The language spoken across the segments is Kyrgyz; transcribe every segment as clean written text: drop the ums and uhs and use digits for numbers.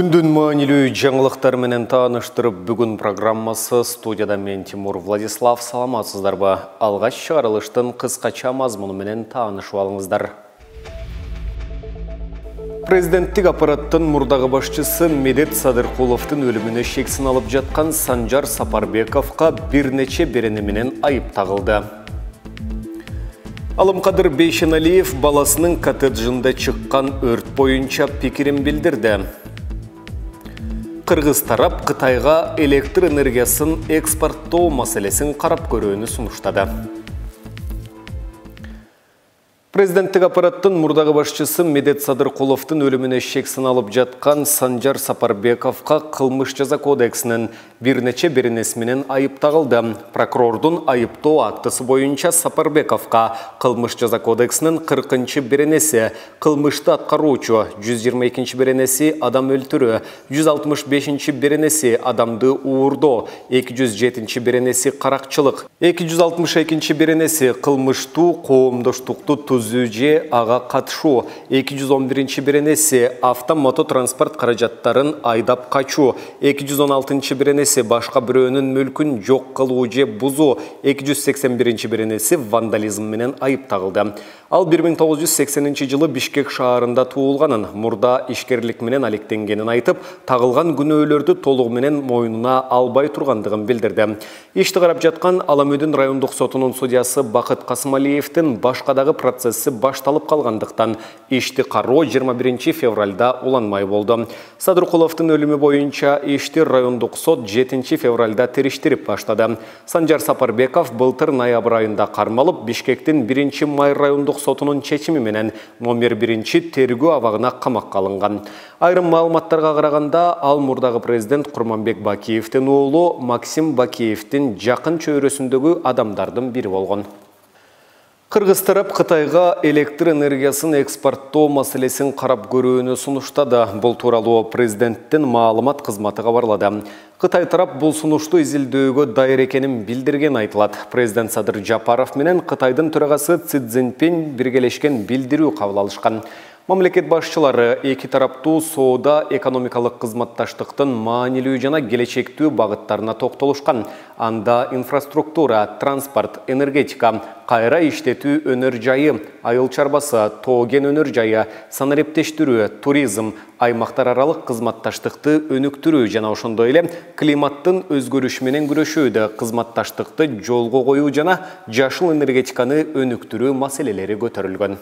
Күндүн маанилүү жаңылыктар менен тааныштырып, бүгүн программасы студияда мен Тимур Владислав. Саламатсыздарбы? Алгач чыгарылыштын кыскача мазмуну менен таанышып алыңыздар. Президенттик аппараттын мурдагы башчысы Медет Садыркуловдун өлүмүнө шексин алып жаткан Санжар Сапарбековго бир нече берени менен айып тагылды. Алымкадыр Бейшеналиев баласынын коттеджинде чыккан өрт боюнча пикирин билдирди. Кыргыз тарап Кытайга электр энергиясын экспорттоо маселесин карап көрүүнү сунуштады. Президенттик аппараттын мурдагы башчысы Медет Садыркуловдун өлүмүнө шексин алып жаткан Санжар Сапарбековго кылмыш жаза кодексинин бир нече беренеси менен айып тагылды. Прокурордун айыптоо актысы боюнча Сапарбековго кылмыш жаза кодексинин 40-чы беренеси кылмышты аткаруучу, 122-чи беренеси адам өлтүрүү, 165-чи беренеси адамды уурдоо, 207-чи беренеси каракчылык, 262-чи беренеси кылмыштуу коомдоштукту же ага катышуу, 211-чи беренеси автомототранспорт каражаттарын айдап качуу, 216-чы беренеси башка бирөөнүн мүлкүн жок кылуу же бузуу, 281-чи беренеси вандализм менен айып тагылды. Ал 1980 жылы Бишкек шаарында туулганын, мурда ишкерлик менен алектенгенин айтып, тагылган күнөөлөрдү толугу менен мойнуна албай тургандыгын билдирди. Ишти карап жаткан Аламөдүн райондук сотунун судьясы Бакыт Касымалиевдин башкадагы процесси башталып калгандыктан ишти кароо 21 февралда уланмай болду. Садыркуловдун өлүмү боюнча ишти райондук сот 7 февралда териштирип баштады. Санжар Сапарбеков былтыр ноябрь айында кармалып, Бишкектин 1-май райондук сотунун чечими менен номер 1-чи тергөө абагына камакка алынган. Айрым маалыматтарга караганда, ал мурдагы президент Курманбек Бакиевдин уулу Максим Бакиевдин жакын чөйрөсүндөгү адамдардын бири болгон. Кыргыз тарап Кытайга электр энергиясын экспорттоо маселесин карап көрүүнү сунуштады. Бул тууралуу президенттин маалымат кызматы кабарлады. Кытай тарап бул сунушту изилдөөгө дайыр экенин билдирген айтылат. Президент Садыр Жапаров менен Кытайдын төрагасы Си Цзиньпин биргелешкен билдирүү кабыл алышкан. Мамлекет башчылары эки тараптуу соода экономикалык кызматташтыктын маанилүү жана келечектүү багыттарына токтолушкан. Анда инфраструктура, транспорт, энергетика, кайра иштетүү өнөр жайы, айыл чарбасы, тоо кен өнөр жайы, санариптештирүү, туризм, аймактар аралык кызматташтыкты өнүктүрүү жана ошондой эле климаттын өзгөрүшү менен күрөшүүдө кызматташтыкты жолго коюу жана жашыл энергетиканы өнүктүрүү маселелери көтөрүлгөн.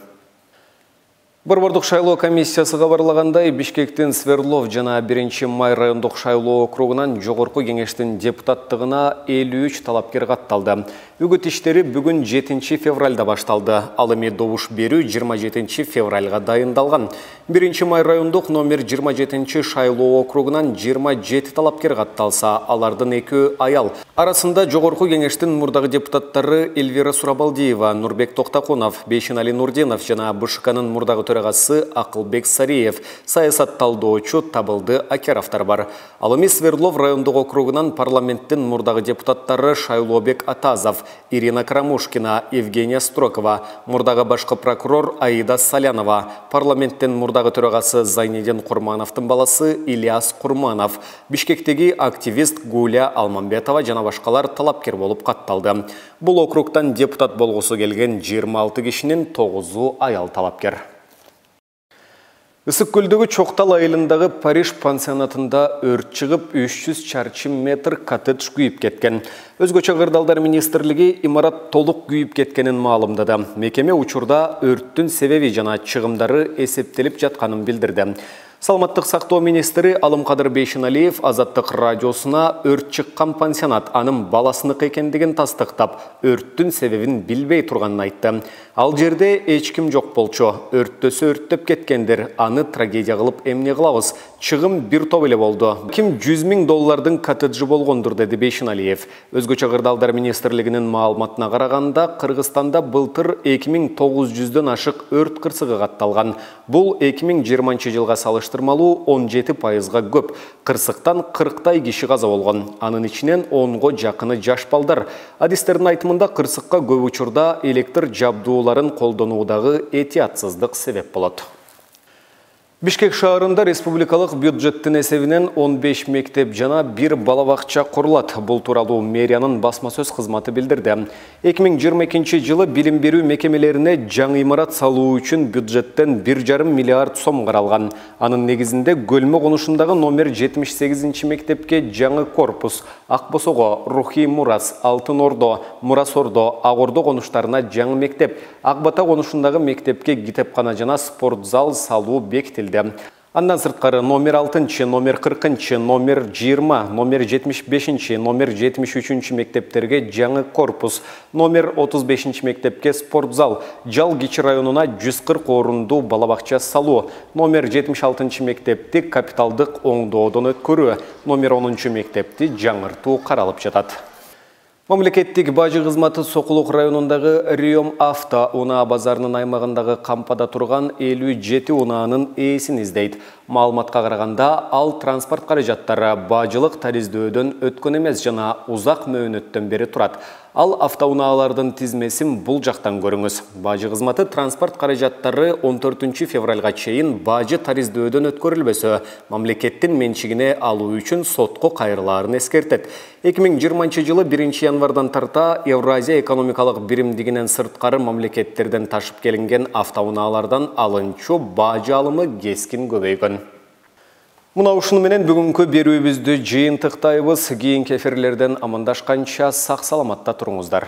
Борбордук шайлоо комиссиясы кабарлагандай, Бишкектин Сверлов жана 1-май райондук шайлоо округунан жогорку кеңештин депутаттыгына 53 талапкер катталды. Үгүт иштери бүгүн 7 февралда башталды. Ал эми добуш берүү 27 февралга дайындалган. 1-май райондук номер 27 шайлоо округунан 27 талапкер катталса, алардын 2 аял. Арасында жогорку кеңештин мурдагы депутаттары Эльвира Сурабалдиева, Нурбек Токтакунов, Бейшенали Нурдинов жана БШКнын мурдагы төрагасы Акылбек Сариев, саясат талдоочу Табылды Акеровтар бар. Ал эми Свердлов райондук округунан парламенттин мурдагы депутаттары Шайлообек Атазов, Ирина Крамушкина, Евгения Строкова, мурдагы башкы прокурор Аида Салянова, парламенттин мурдагы төрагасы Зайнедин Курмановдун баласы Ильяс Курманов, Бишкектеги активист Гуля Алмамбетова жана башкалар талапкер болуп катталды. Бул округтан депутат болгусу келген 26 кишинин 9-у аял талапкер. Ысык көлдөгү Чоктал айылындагы Париж пансионатында өрт чыгып 300 чарчы метр коттедж күйүп кеткен. Өзгөчө кырдаалдар министрлиги имарат толук күйүп кеткенин маалымдады. Мекеме учурда өрттүн себеби жана чыгымдары эсептелип жатканын билдирди. Саламаттык сактоо министри Алымкадыр Бейшеналиев Азаттык радиосуна өрт чыккан пансионат анын баласыныкы экендигин тастыктап, өрттүн себебин билбей турганын айтты. Ал жерде эч ким жок болчу. Өрттөсө өрттөп кеткендер, аны трагедия кылып эмне кылабыз? Чыгым бир топ эле болду. Ким $100 000 коттеджи болгондур, деди Бейшеналиев. Өзгөчө кырдаалдар министрлигинин маалыматына караганда, Кыргызстанда былтыр 2900дөн ашык өрт кырсыгы катталган. Бул 2020 жылга салыштырмалуу 17%га көп. Кырсыктан 40 киши каза болгон. Анын ичинен 10го жакыны жаш балдар. Адистердин айтымында кырсыкка көп учурда электр жабдууларын колдонуудагы этиятсыздык себеп болот. Бишкек шаарында республикалык бюджеттин эсебинен 15 мектеп жана 1 балабакча курулат. Бул тууралуу мэриянын басма сөз кызматы билдирди. 2022 жылы билим берүү мекемелерине жаңы имарат салуу үчүн бюджеттен 1,5 миллиард сом каралган. Анын негизинде Көлмө конушундагы номер 78 мектепке жаңы корпус, Акбосого, Рухий Мурас, Алтын Ордо, Мурас Ордо, Ак Ордо конуштарына жаңы мектеп, Ак Бата конушундагы мектепке китепкана жана спорт зал салуу бекитилди. Андан сырткары номер 6, номер 40, номер 20, номер 75, номер 73 мектептерге жаңы корпус, номер 35 мектепке спорт зал, Жал Кичи районуна 140 орунду балабакча салуу, номер 76 мектепти капиталдык оңдоодон өткөрүү, номер 10 мектепти жаңыртуу каралып жатат. Мамлекеттик бажы кызматы Сокулук районундагы Риом Авто унаа базарынын аймагындагы кампада турган 57 унаанын ээсин издейт. Маалыматка караганда, ал транспорт каражаттары бажылык тариздөөдөн өткөн эмес жана узак мөөнөттөн бери турат. Ал автоунаалардын тизмесин бул жактан көрүңүз. Бажы кызматы транспорт каражаттары 14 февралга чейин бажы тариздөөдөн өткөрүлбөсө, мамлекеттин менчигине алуу үчүн сотко кайрылаарын эскертет. 2020 жылы 1 январдан тарта Евразия экономикалык биримдигинен сырткары мамлекеттерден ташып келинген автоунаалардан алынчу бажы алымы кескин көбөйгөн. Мына ушуну менен бүгүнкү берүүбүздү жыйынтыктайбыз. Кийинки эфирлерден амандашканча сак саламатта туруңуздар.